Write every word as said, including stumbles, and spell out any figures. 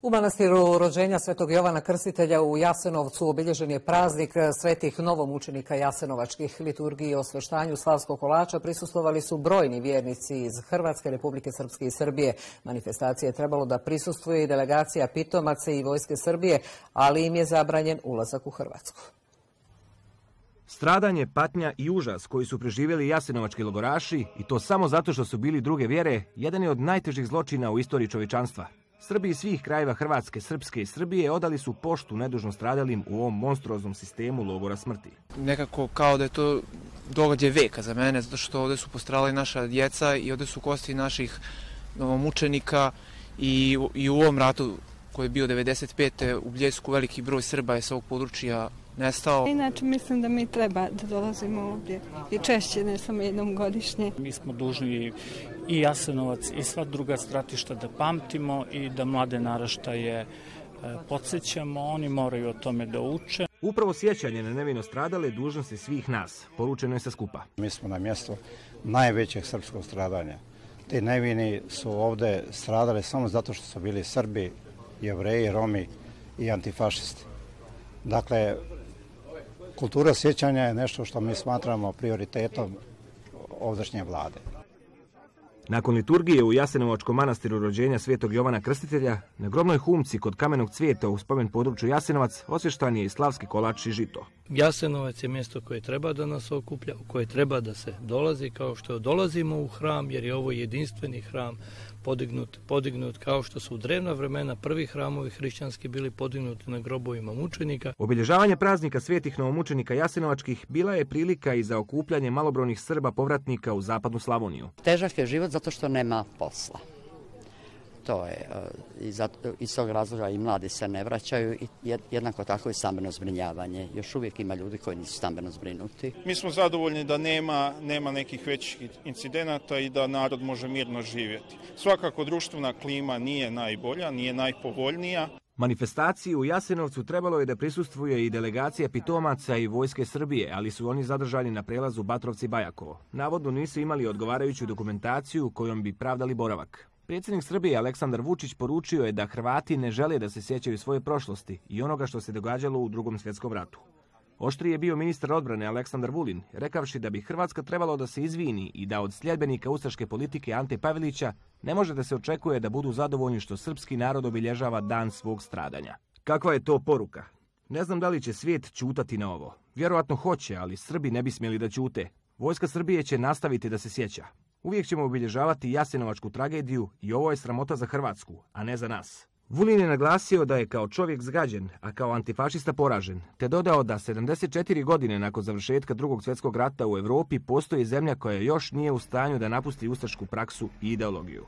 U manastiru rođenja Svetog Jovana Krstitelja u Jasenovcu obilježen je praznik svetih novomučenika jasenovačkih. Liturgiji i osveštanju slavskog kolača prisustvovali su brojni vjernici iz Hrvatske, Republike Srpske i Srbije. Manifestacije je trebalo da prisustvuje i delegacija pitomaca i vojske Srbije, ali im je zabranjen ulazak u Hrvatsku. Stradanje, patnja i užas koji su preživjeli jasenovački logoraši, i to samo zato što su bili druge vjere, jedan je od najtežih zločina u istoriji čovječanstva. Srbi iz svih krajeva Hrvatske, Srpske i Srbije odali su poštu nedužno stradalim u ovom monstruoznom sistemu logora smrti. Nekako kao da je to događaj veka za mene, zato što ovdje su postradali naša djeca i ovdje su kosti naših novomučenika i, i u ovom ratu koji je bio devedeset pete u Bljesku veliki broj Srba je sa ovog područja nestao. Inače mislim da mi treba da dolazimo ovdje i češće, ne samo jednom godišnje. Mi smo dužni i Jasenovac i sva druga stratišta da pamtimo i da mlade naraštaje podsjećamo, oni moraju o tome da uče. Upravo sjećanje na nevino stradale dužnosti svih nas, poručeno je sa skupa. Mi smo na mjestu najvećeg srpskog stradanja. Ti nevini su ovdje stradali samo zato što su bili Srbi, Jevreji, Romi i antifašisti. Dakle, kultura sjećanja je nešto što mi smatramo prioritetom ovdašnje vlade. Nakon liturgije u Jasenovačkom manastiru rođenja Svetog Jovana Krstitelja, na grobnoj humci kod kamenog cvijeta u spomen području Jasenovac osvještan je i slavski kolač i žito. Jasenovac je mjesto koje treba da nas okuplja, u koje treba da se dolazi kao što dolazimo u hram, jer je ovo jedinstveni hram podignut, podignut kao što su u drevna vremena prvi hramovi hrišćanski bili podignuti na grobovima mučenika. Obilježavanje praznika svetih novomučenika jasenovačkih bila je prilika i za okupljanje malobrojnih Srba povratnika u zapadnu Slavoniju. Težak je život zato što nema posla. To je, i zato, iz tog razloga i mladi se ne vraćaju i jednako tako i stambeno zbrinjavanje. Još uvijek ima ljudi koji nisu stambeno zbrinuti. Mi smo zadovoljni da nema, nema nekih većih incidenata i da narod može mirno živjeti. Svakako društvena klima nije najbolja, nije najpovoljnija. Manifestaciji u Jasenovcu trebalo je da prisustvuje i delegacija pitomaca i vojske Srbije, ali su oni zadržani na prelazu Batrovci-Bajakovo. Navodno nisu imali odgovarajuću dokumentaciju kojom bi pravdali boravak. Predsjednik Srbije Aleksandar Vučić poručio je da Hrvati ne žele da se sjećaju svoje prošlosti i onoga što se događalo u Drugom svjetskom ratu. Oštriji je bio ministar odbrane Aleksandar Vulin, rekavši da bi Hrvatska trebalo da se izvini i da od sljedbenika ustaške politike Ante Pavelića ne može da se očekuje da budu zadovoljni što srpski narod obilježava dan svog stradanja. Kakva je to poruka? Ne znam da li će svijet ćutati na ovo. Vjerojatno hoće, ali Srbi ne bi smjeli da ćute. Vojska Srbije će nastaviti da se sjeća. Uvijek ćemo obilježavati jasenovačku tragediju i ovo je sramota za Hrvatsku, a ne za nas. Vulin je naglasio da je kao čovjek zgađen, a kao antifašista poražen, te dodao da sedamdeset četiri godine nakon završetka Drugog svjetskog rata u Europi postoji zemlja koja još nije u stanju da napusti ustašku praksu i ideologiju.